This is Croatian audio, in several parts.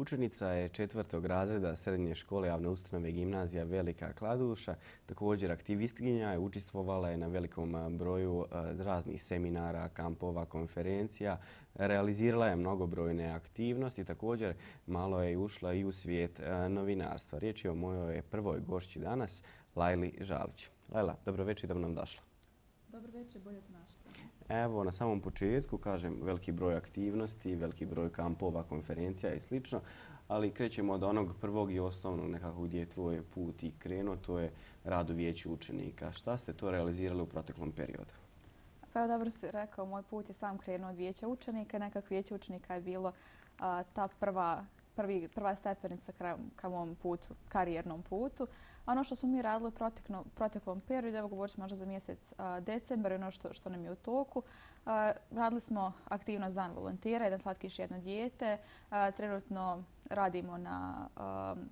Učenica je 4. razreda srednje škole javne ustanove gimnazija Velika Kladuša. Također aktivistkinja je, učestvovala je na velikom broju raznih seminara, kampova, konferencija. Realizirala je mnogobrojne aktivnosti. Također malo je ušla i u svijet novinarstva. Riječ je o mojoj prvoj gošći danas, Lajli Žalić. Lajla, dobro večer, da nam došla. Dobro večer, bolje te našla. Evo, na samom početku, kažem, veliki broj aktivnosti, veliki broj kampova, konferencija i sl. Ali krećemo od onog prvog i osnovnog nekako gdje je tvoj put i krenuo, to je rad u vijeću učenika. Šta ste to realizirali u proteklom periodu? Pa evo, dobro si rekao, moj put je sam krenuo od vijeća učenika. Nekako vijeće učenika je bilo ta prva stepenica ka mom putu, karijernom putu. A ono što smo mi radili u proteklom periodu, evo govorit ću možda za mjesec decembar, ono što nam je u toku. Radili smo aktivnost Dan volontira, jedan slatkiš, jedno dijete. Trenutno radimo na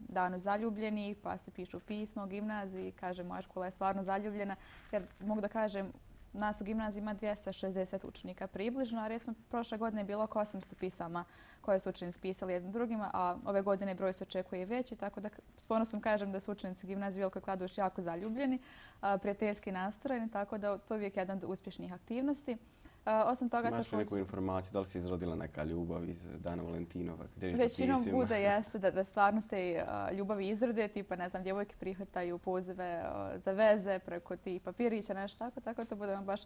Danu zaljubljenih, pa se pišu pisma u gimnaziji. Kažem, moja škola je stvarno zaljubljena, jer mogu da kažem, nas u gimnaziji ima 260 učenika približno, a recimo prošle godine je bilo oko 800 pisama koje su učenici pisali jednim drugima, a ove godine broj se očekuje i veći, tako da s ponosom kažem da su učenici gimnazije Velikoj Kladuši jako zaljubljeni, prijateljski nastrojeni, tako da to je uvijek jedan od uspješnih aktivnosti. Osim toga, imaš li neku informaciju, da li se izrodila neka ljubav iz Dana Valentinova? Većinom bude jeste da stvarno te ljubavi izrode, tipa, ne znam, djevojke prihvataju pozive za veze preko tih papirića, nešto tako to bude baš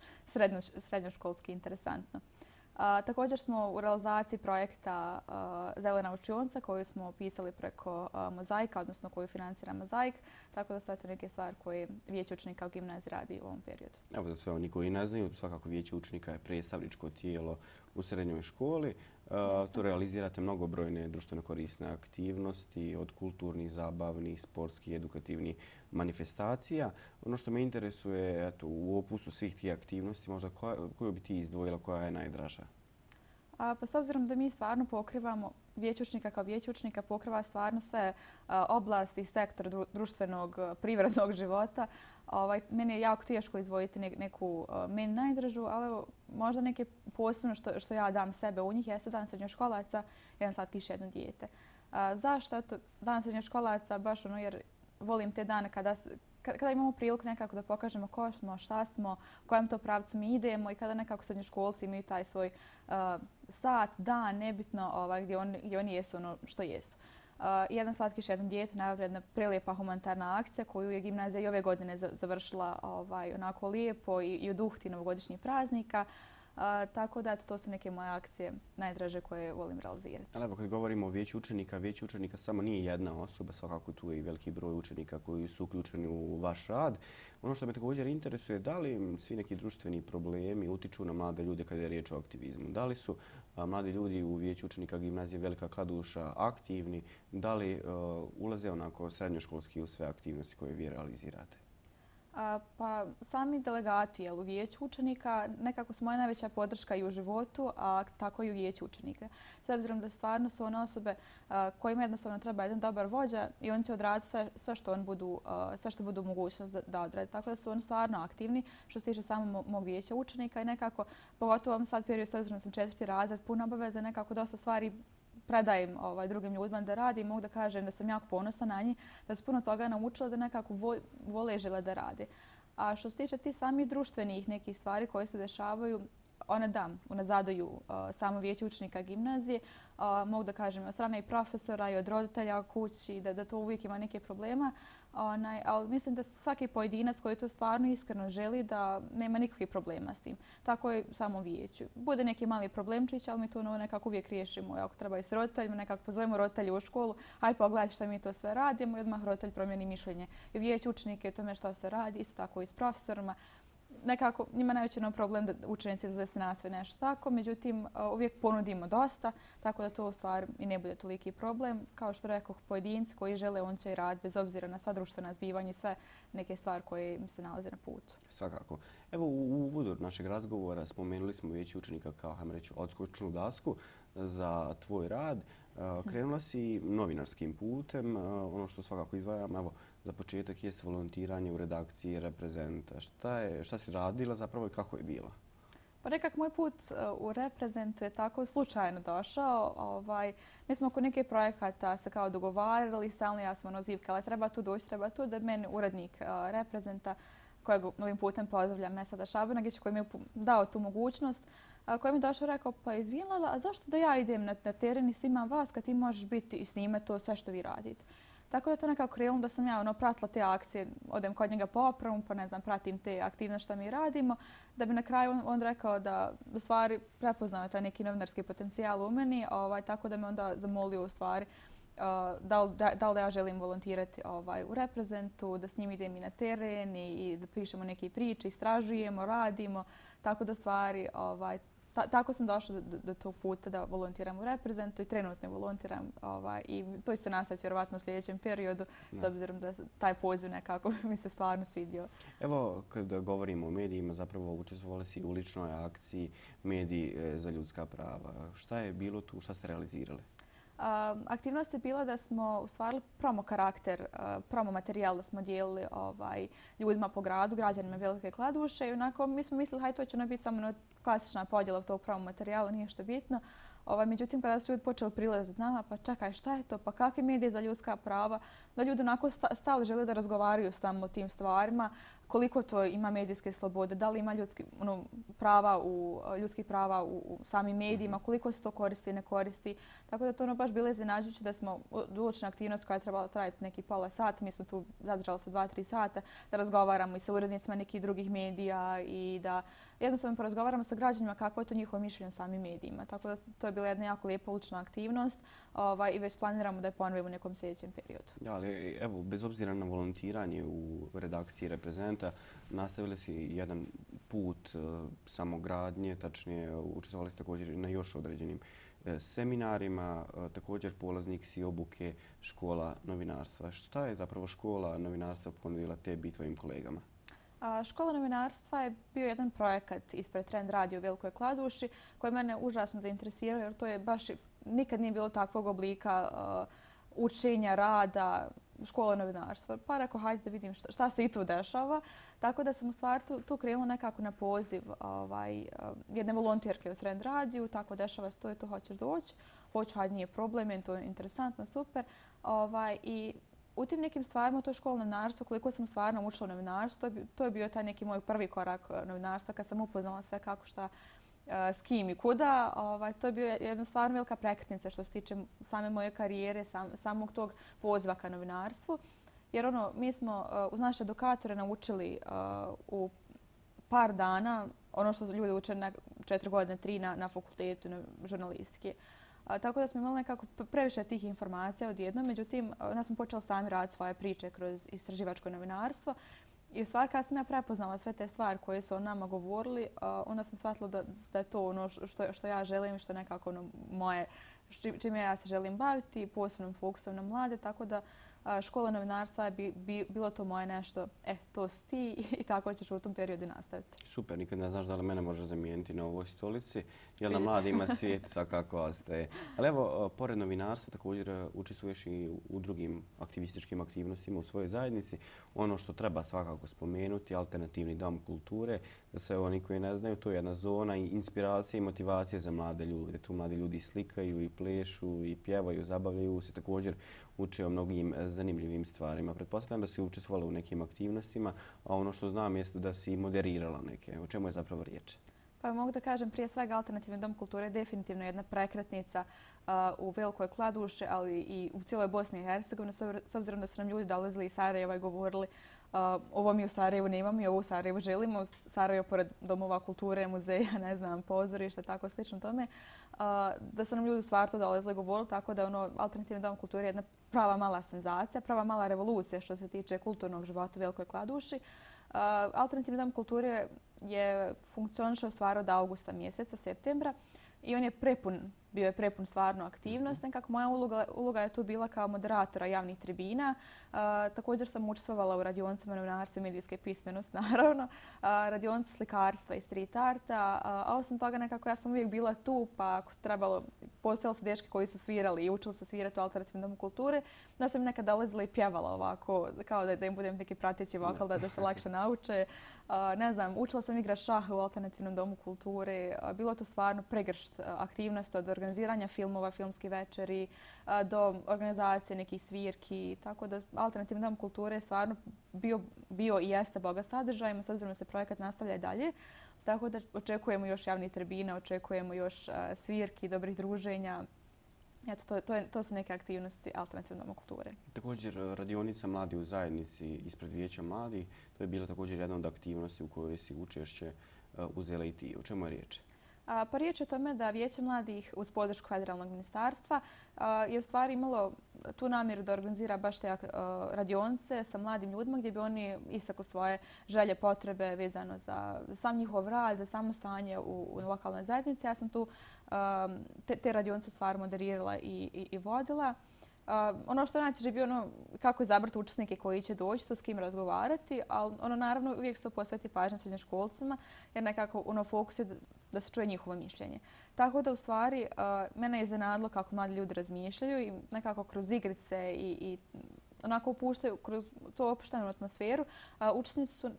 srednjoškolski interesantno. Također smo u realizaciji projekta Zelena učionica koju smo pisali preko Mozaika, odnosno koju financira Mozaik, tako da su to neke stvari koje vijeće učenika u gimnaziji radi u ovom periodu. Evo, za sve oni koji ne znaju, svakako vijeće učenika je predstavničko tijelo u srednjoj školi. Tu realizirate mnogobrojne društveno korisne aktivnosti, od kulturnih, zabavnih, sportskih, edukativnih manifestacija. Ono što me interesuje, eto, u opusu svih tih aktivnosti, možda koju bi ti izdvojila, koja je najdraža? Pa s obzirom da mi stvarno pokrivamo, vijeće učenika kao vijeće učenika pokriva stvarno sve oblasti i sektor društvenog, privrednog života. Meni je jako teško izdvojiti neku meni najdražu, ali možda neke posebno što ja dam sebe u njih jeste Dan srednjoškolaca, jedan slatkiš, jedno dijete. Zašto? Dan srednjoškolaca baš ono jer volim te dane kada imamo priliku nekako da pokažemo ko smo, šta smo, u kojem to pravcu mi idemo i kada nekako srednjoškolci imaju taj svoj sat, dan, nebitno gdje oni jesu ono što jesu. Jedan slatkiš, jedno dijete, najavljena jedna prelijepa humanitarna akcija koju je gimnazija i ove godine završila onako lijepo i u duhu tih novogodišnjih praznika. Tako da to su neke moje akcije najdraže koje volim realizirati. Ali evo, kad govorimo o vijeću učenika samo nije jedna osoba, svakako tu je i veliki broj učenika koji su uključeni u vaš rad. Ono što me također interesuje, da li svi neki društveni problemi utiču na mlade ljude kada je riječ o aktivizmu? Da li su mladi ljudi u vijeću učenika gimnazije Velika Kladuša aktivni? Da li ulaze onako srednjoškolski u sve aktivnosti koje vi realizirate? Pa sami delegati u vijeću učenika nekako su moja najveća podrška i u životu, a tako i u vijeću učenika. S obzirom da stvarno su one osobe kojima jednostavno treba jedan dobar vođa i oni će odraditi sve što budu mogućnost da odrade. Tako da su oni stvarno aktivni što se tiče samog mog vijeća učenika i nekako, pogotovo u ovom sad periodu s obzirom da sam 4. razred, puno obaveza, nekako dosta stvari predajem drugim ljudima da radi i mogu da kažem da sam jako ponosna na njih, da su puno toga naučila da nekako vole i žele da rade. A što se tiče ti samih društvenih nekih stvari koje se dešavaju, one unazaduju samo vijeće učenika gimnazije. Mogu da kažem od strane i profesora i od roditelja u kući da to uvijek ima neke problema. Ali mislim da svaki pojedinac koji to stvarno iskreno želi da nema nikakvih problema s tim. Tako je samo vijeću. Bude neki mali problemčić, ali mi to nekako uvijek riješimo. Ako treba i s roditeljima, nekako pozovemo roditelje u školu, hajde pogledaj šta mi to sve radimo i odmah roditelj promijeni mišljenje i vijeće učenike o tome što se radi, isto tako i s profesorima. Nekako njima najveći problem da učenici izlaze se na sve nešto tako, međutim uvijek ponudimo dosta, tako da to u stvari i ne bude toliki problem. Kao što rekao, pojedinci koji žele, on će i raditi bez obzira na sva društvena zbivanja i sve neke stvari koje im se nalaze na putu. Svakako. Evo, u uvodu našeg razgovora spomenuli smo vijeće učenika kao, hajmo reći, odskočnu dasku za tvoj rad. Krenula si novinarskim putem, ono što svakako izdvajam, evo, za početak je volontiranje u redakciji Reprezenta. Šta si radila zapravo i kako je bila? Pa nekak moj put u reprezentu je tako slučajno došao. Mi smo oko nekih projekata se kao dogovarali, stalno ja sam zivkala treba tu doći, treba tu, da meni urednik reprezenta, kojeg ovim putem pozdravljam, Mesada Šabanagić, koji mi je dao tu mogućnost, koji mi je došao i rekao, pa izvinjala, a zašto da ja idem na teren i snimam vas kad ti možeš biti i snimati to sve što vi radite. Tako da je to nekako krenulo da sam ja pratila te akcije, odem kod njega po opravu, pa ne znam, pratim te aktivnosti što mi radimo, da bi na kraju on rekao da u stvari prepoznao taj neki novinarski potencijal u meni, tako da me onda zamolio u stvari da li ja želim volontirati u reprezentu, da s njim idem i na teren i da pišemo neke priče, istražujemo, radimo, tako da stvari tako sam došla do tog puta da volontiram u reprezentu i trenutno volontiram i to će se nastaviti vjerovatno u sljedećem periodu s obzirom da taj poziv nekako mi se stvarno svidio. Evo, kada govorimo o medijima, zapravo učestvovali si u ličnoj akciji Mediji za ljudska prava. Šta je bilo tu, šta ste realizirali? Aktivnost je bila da smo ostvarili promo karakter, promo materijal da smo dijelili ljudima po gradu, građanima Velike Kladuše i onako mi smo mislili hajde to će biti samo klasična podjela tog promo materijala, nije što bitno. Međutim, kada su ljudi počeli prilaziti nama, pa čekaj šta je to, pa kakvi mediji za ljudska prava, da ljudi onako stali žele da razgovaraju samo o tim stvarima, koliko to ima medijske slobode, da li ima ljudskih prava u samim medijima, koliko se to koristi i ne koristi. Tako da to baš bilo iznenađujuće da smo odlučna aktivnost koja je trebala trajati neki pola sata, mi smo tu zadržali se 2-3 sata da razgovaramo i sa urednicima nekih drugih medija i da jednostavno porazgovaramo sa građanima kako je to njihovo mišljenje o samim medijima. Tako da to je bila jedna jako lijepa ulična aktivnost i već planiramo da je ponovimo u nekom sljedećem periodu. Ja, ali evo, bez obzira na volontiranje u redakciji Reprezenta, nastavili si jedan put samogradnje, tačnije učestvovali ste također na još određenim seminarima, također polaznik si obuke škola novinarstva. Šta je zapravo škola novinarstva ponudila tebi i tvojim kolegama? Škola novinarstva je bio jedan projekat ispred Trend radio u Velikoj Kladuši koji mene užasno zainteresirao jer to je baš nikad nije bilo takvog oblika učenja, rada, škola novinarstva. Pa rekao, hajde da vidim šta se i tu dešava. Tako da sam u stvari tu krenula nekako na poziv jedne volonterke u Trend radiju. Tako dešava se to, hoćeš doći. Hoću, hajde, nije problem, to je interesantno, super. I u tim nekim stvarima, to je škola novinarstva, koliko sam stvarno učila novinarstvo, to je bio taj neki moj prvi korak novinarstva kad sam upoznala sve kako šta s kim i kuda. To je bio jedna stvarno velika prekretnica što se tiče same moje karijere, samog tog poziva ka novinarstvu. Jer mi smo uz naše edukatore naučili u par dana ono što ljudi uče na 4 godine, 3 na fakultetu na žurnalistike. Tako da smo imali nekako previše tih informacija odjednom, međutim, onda smo počeli sami raditi svoje priče kroz istraživačko novinarstvo. I u stvari kad sam ja prepoznala sve te stvari koje su o nama govorili, onda sam shvatila da je to ono što ja želim, što je nekako moje, čime ja se želim baviti, posebnom fokusom na mlade, tako da škola novinarstva je bilo to moje nešto, to si ti i tako ćeš u tom periodu nastaviti. Super, nikad ne znaš da li mene može zamijeniti na ovoj stolici, jer na mladima svijet svakako ostaje. Ali evo, pored novinarstva također učestvuješ i u drugim aktivističkim aktivnostima u svojoj zajednici. Ono što treba svakako spomenuti, alternativni dom kulture, za sve oni koji ne znaju, to je jedna zona inspiracije i motivacije za mlade ljude. Tu mladi ljudi slikaju i plešu i pjevaju, zabavljaju se, također uče o mnogim zanimljivim stvarima. Pretpostavljam da si učestvovala u nekim aktivnostima, a ono što znam jeste da si moderirala neke. O čemu je zapravo riječ? Pa mogu da kažem prije svega Alternativni dom kulture je definitivno jedna prekretnica u Velikoj Kladuši, ali i u cijeloj Bosni i Hercegovini, s obzirom da su nam ljudi dolazili iz Sarajeva i govorili ovo mi u Sarajevu nemamo i ovo u Sarajevu želimo. Sarajevo pored domova kulture, muzeja, ne znam, pozorišta, tako slično tome. Da su nam ljudi u stvari to dolazili i govorili, tako da Alternativni dom kulture je jedna prava mala senzacija, prava mala revolucija što se tiče kulturnog života u Velikoj Kladuši. Alternativni dom kulture je funkcionišao stvar od augusta mjeseca, septembra i on je prepun bio je prepun stvarno aktivnost. Nekako moja uloga je tu bila kao moderatora javnih tribina. Također sam učestvovala u radionicama novinarstva i medijske pismenosti, naravno, radionice slikarstva i street arta. A osim toga nekako ja sam uvijek bila tu, pa ako trebalo, postojali su dečki koji su svirali i učili se svirati u alternativnom domu kulture, da sam nekad dolazila i pjevala ovako, kao da im budem neki prateći vokal, da se lakše nauče. Ne znam, učila sam igrati šah u alternativnom domu kulture. Bilo to stvarno pregršt aktivnosti od organiziranja filmova, filmskih večeri, do organizacije nekih svirki. Tako da alternativni dom kulture je stvarno bio i jeste bogat sadržajima, s obzirom da se projekat nastavlja i dalje. Tako da očekujemo još javnih tribina, očekujemo još svirki, dobrih druženja. Eto, to su neke aktivnosti alternativne domu kulture. Također, radionica Mladi u zajednici ispred Vijeća mladih, to je bila također jedna od aktivnosti u kojoj si učešće uzela i ti. O čemu je riječ? Pa riječ je o tome da Vijeće mladih uz podršku federalnog ministarstva je u stvari imalo tu namjeru da organizira baš te radionice sa mladim ljudima gdje bi oni istakli svoje želje, potrebe vezano za sam njihov rad, za samo stanje u lokalnoj zajednici. Ja sam tu te radionice stvari moderirala i vodila. Ono što je najteže bio ono kako izabrati učesnike koji će doći, to s kim razgovarati, ali naravno uvijek se to posveti pažnja srednjoškolcima jer nekako fokus je da se čuje njihovo mišljenje. Tako da u stvari mene je iznenadilo kako mladi ljudi razmišljaju i nekako kroz igrice i onako upuštaju kroz tu opuštenu atmosferu. Učesnici su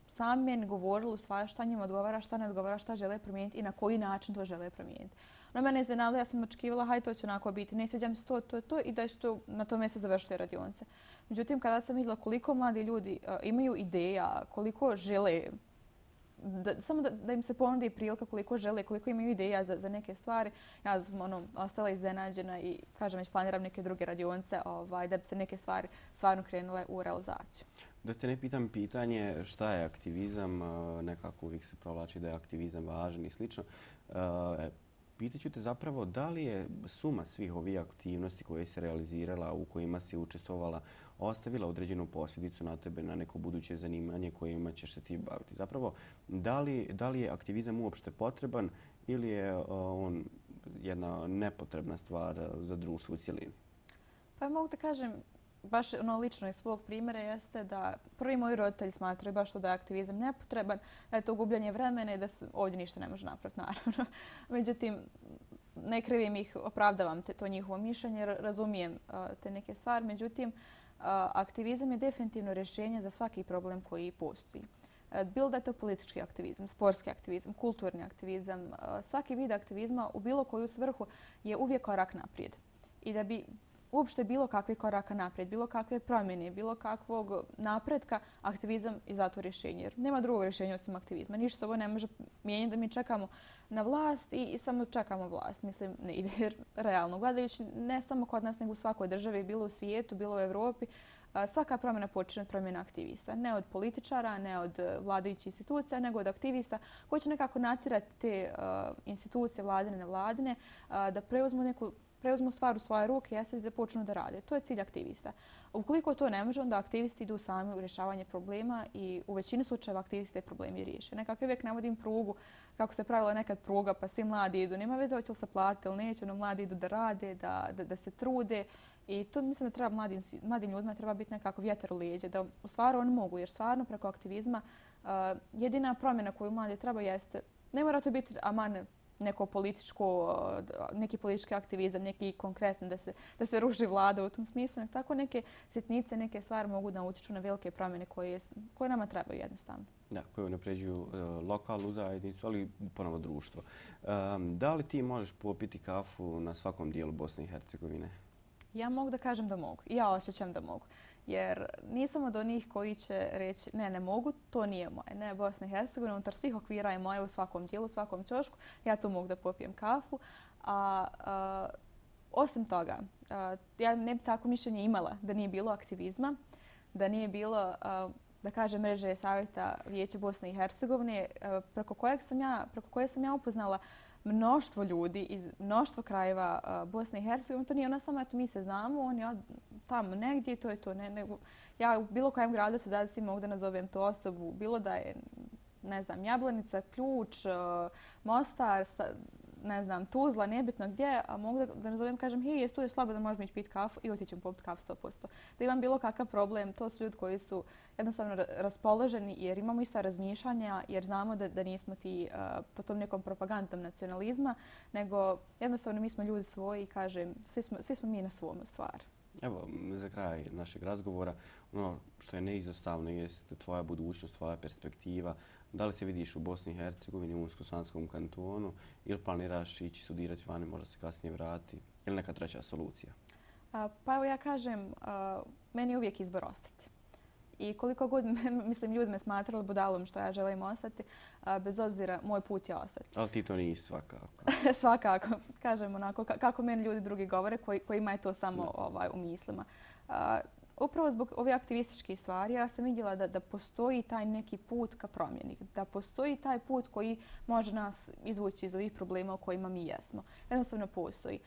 sami meni govorili u stvari šta njima odgovara, šta ne odgovara, šta žele promijeniti i na koji način to žele promijeniti. No, mene je iznenadilo, ja sam očekivala, hajde to će onako biti, ne sviđa mi se to i da će na tome se završiti radionice. Međutim, kada sam vidjela koliko mladi ljudi imaju ideja, koliko žele, samo da im se ponudi prilika koliko žele, koliko imaju ideja za neke stvari, ja sam ostala iznenađena i kažem već planiram neke druge radionice da bi se neke stvari stvarno krenule u realizaciju. Da te ne pitam pitanje šta je aktivizam, nekako uvijek se provlači da je aktivizam važan i slično. Pitaću te zapravo da li je suma svih ovih aktivnosti koje si realizirala, u kojima si učestvovala, ostavila određenu posljedicu na tebe, na neko buduće zanimanje kojima ćeš se ti baviti. Zapravo, da li je aktivizam uopšte potreban ili je on jedna nepotrebna stvar za društvo u cjelini? Pa mogu da kažem, baš lično iz svog primjera jeste da prvi moji roditelji smatraju baš to da je aktivizam nepotreban, da je to gubljenje vremena i da se ovdje ništa ne može napraviti, naravno. Međutim, ne krivim ih, opravdavam to njihovo mišljenje, razumijem te neke stvari. Međutim, aktivizam je definitivno rješenje za svaki problem koji postoji. Bilo da je to politički aktivizam, sportski aktivizam, kulturni aktivizam, svaki vid aktivizma u bilo koju svrhu je uvijek korak naprijed. I da bi uopšte bilo kakve koraka naprijed, bilo kakve promjene, bilo kakvog napretka, aktivizam je zato rješenje. Jer nema drugog rješenja osim aktivizma. Ništa se ovo ne može mijenjati da mi čekamo na vlast i samo čekamo vlast. Mislim, ne ide jer realno. Gledajući ne samo kod nas, nego u svakoj državi, bilo u svijetu, bilo u Evropi, svaka promjena počinje od promjena aktivista. Ne od političara, ne od vladajućih institucija, nego od aktivista koji će nekako natjerati te institucije, vladine, nevladine, da preuzmu stvar u svoje ruke i da počnu da rade. To je cilj aktivista. Ukoliko to ne može, onda aktivisti idu sami u rješavanje problema i u većini slučajeva aktivisti problemi riješe. Nekako uvijek navodim prugu, kako se pravila nekad pruga, pa svi mladi idu. Nema veze hoće li se platiti ili neće, no mladi idu da rade, da se trude. I to mislim da treba mladim ljudima treba biti nekako vjetar u leđe, da u stvari oni mogu, jer stvarno preko aktivizma jedina promjena koju mladi treba jeste, ne mora to biti neki politički aktivizam, neki konkretno da se ruši vlada u tom smislu, nek tako neke sitnice, neke stvari mogu da utječu na velike promjene koje nama trebaju jednostavno. Da, koje unapređuju lokalnu zajednicu, ali ponovo društvo. Da li ti možeš popiti kafu na svakom dijelu Bosne i Hercegovine? Ja mogu da kažem da mogu. Ja osjećam da mogu. Jer nisam od onih koji će reći ne mogu, to nije moje. Ne, Bosna i Hercegovina, unutar svih okvira je moje u svakom dijelu, u svakom ćošku. Ja tu mogu da popijem kafu. Osim toga, ja ne bi tako mišljenje imala da nije bilo aktivizma, da nije bilo, da kažem, mreže savjeta Vijeća Bosne i Hercegovine, preko koje sam ja upoznala mnoštvo ljudi iz mnoštvo krajeva Bosne i Hercegovine. To nije ona samo, eto mi se znamo, on je tamo negdje, to je to. Ja u bilo kojem gradu se zadesim mogu da nazovem tu osobu, bilo da je, ne znam, Jablanica, Ključ, Mostar, ne znam, Tuzla, nebitno gdje, a mogu da nazovem, kažem, hej, jes tu je slobodno, možemo ići piti kafu i otići ćemo popiti kafu 100%. Da imam bilo kakav problem, to su ljudi koji su jednostavno raspoloženi jer imamo ista razmišljanja, jer znamo da nismo ti po tom nekom propagandom nacionalizma, nego jednostavno mi smo ljudi svoji i kažem, svi smo mi na svom stvar. Evo, za kraj našeg razgovora, ono što je neizostavno jest tvoja budućnost, tvoja perspektiva. Da li se vidiš u Bosni i Hercegovini, u Unsko-Sanskom kantonu ili planiraš ići studirati vani, možda se kasnije vrati ili neka treća solucija? Pa evo ja kažem, meni je uvijek izbor ostati. I koliko god, mislim, ljudi me smatrali budalom što ja želim ostati, bez obzira, moj put je ostati. Ali ti to nisi svakako. Svakako, kažem onako, kako meni ljudi drugi govore, kojima je to samo u mislima. Upravo zbog ove aktivističke stvari ja sam vidjela da postoji taj neki put ka promjeni, da postoji taj put koji može nas izvući iz ovih problema u kojima mi jesmo. Jednostavno postoji.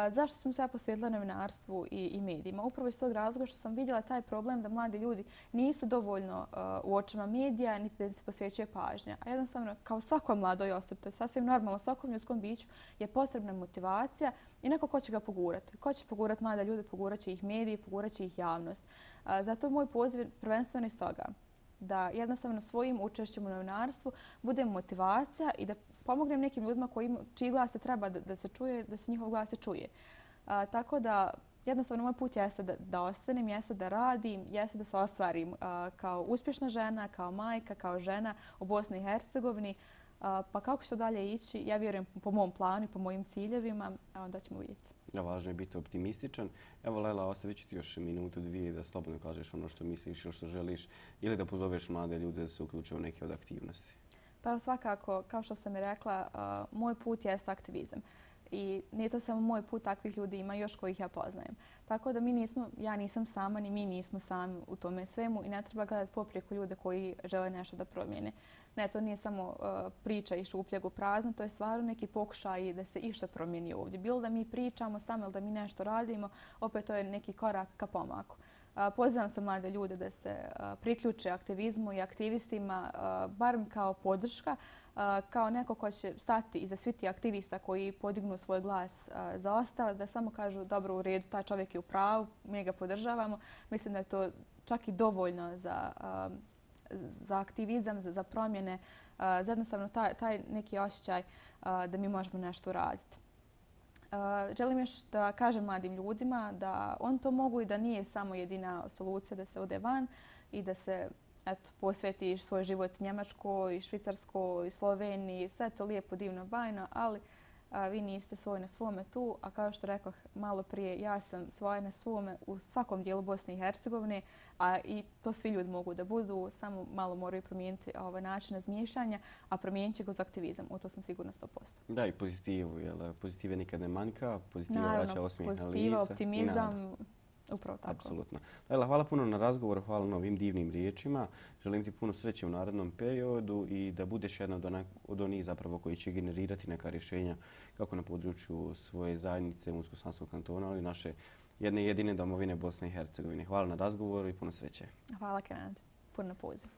Zašto sam se ja posvetila novinarstvu i medijima? Upravo iz tog razloga što sam vidjela taj problem da mladi ljudi nisu dovoljno u očima medija, niti da im se posvećuje pažnja. A jednostavno, kao svakoj mladoj osobi, to je sasvim normalno, svakom ljudskom biću je potrebna motivacija i neko ko će ga pogurati. Ko će pogurati mlade ljude, pogurat će ih mediji, pogurat će ih javnost. Zato moj poziv prvenstveno iz toga da jednostavno svojim učešćem u novinarstvu bude motivacija i da pomognem nekim ljudima čiji glas se treba da se čuje, da se njihov glas se čuje. Tako da jednostavno moj put jeste da ostanem, jeste da radim, jeste da se ostvarim kao uspješna žena, kao majka, kao žena u Bosni i Hercegovini. Pa kako će to dalje ići, ja vjerujem po mom planu i po mojim ciljevima, a onda ćemo vidjeti. Važno je biti optimističan. Evo, Lela, ostavit ću ti još minutu, dvije da slobodno kažeš ono što misliš ili što želiš ili da pozoveš mlade ljude da se uključe u neke od aktivnosti. Pa svakako, kao što sam i rekla, moj put jest aktivizam. I nije to samo moj put, takvih ljudi ima još kojih ja poznajem. Tako da ja nisam sama, ni mi nismo sami u tome svemu i ne treba gledati poprijeku ljude koji žele nešto da promijene. Ne, to nije samo priča i šupljeg u prazno, to je stvarno neki pokušaj da se išta promijeni ovdje. Bilo da mi pričamo samo ili da mi nešto radimo, opet to je neki korak ka pomaku. Pozivam se mlade ljude da se priključe aktivizmu i aktivistima, barem kao podrška, kao neko ko će stati iza svih tih aktivista koji podignu svoj glas za ostale, da samo kažu dobro, u redu, taj čovjek je u pravu, mi ga podržavamo. Mislim da je to čak i dovoljno za aktivizam, za promjene, za jednostavno taj neki osjećaj da mi možemo nešto uraditi. Želim još da kažem mladim ljudima da on to mogu i da nije samo jedina solucija da se ode van i da se posveti svoj život Njemačkoj, Švicarskoj, Sloveniji, sve to lijepo, divno, bajno, ali vi niste svoj na svome tu, a kao što rekoh malo prije, ja sam svoja na svome u svakom dijelu Bosne i Hercegovine, a i to svi ljudi mogu da budu, samo malo moraju promijeniti način razmišljanja, a promijenit će kroz aktivizam, u to sam sigurna 100%. Da, i pozitivu, jer pozitive nikad ne manjka, pozitiva vraća osmijeh na lice. Pozitiva, optimizam. Upravo tako. Apsolutno. Lela, hvala puno na razgovoru, hvala na ovim divnim riječima. Želim ti puno sreće u narednom periodu i da budeš jedna od onih zapravo koji će generirati neka rješenja kako na području svoje zajednice Unsko-Sanskog kantona, ali naše jedne jedine domovine Bosne i Hercegovine. Hvala na razgovoru i puno sreće. Hvala, Kenan. Puno na pozivu.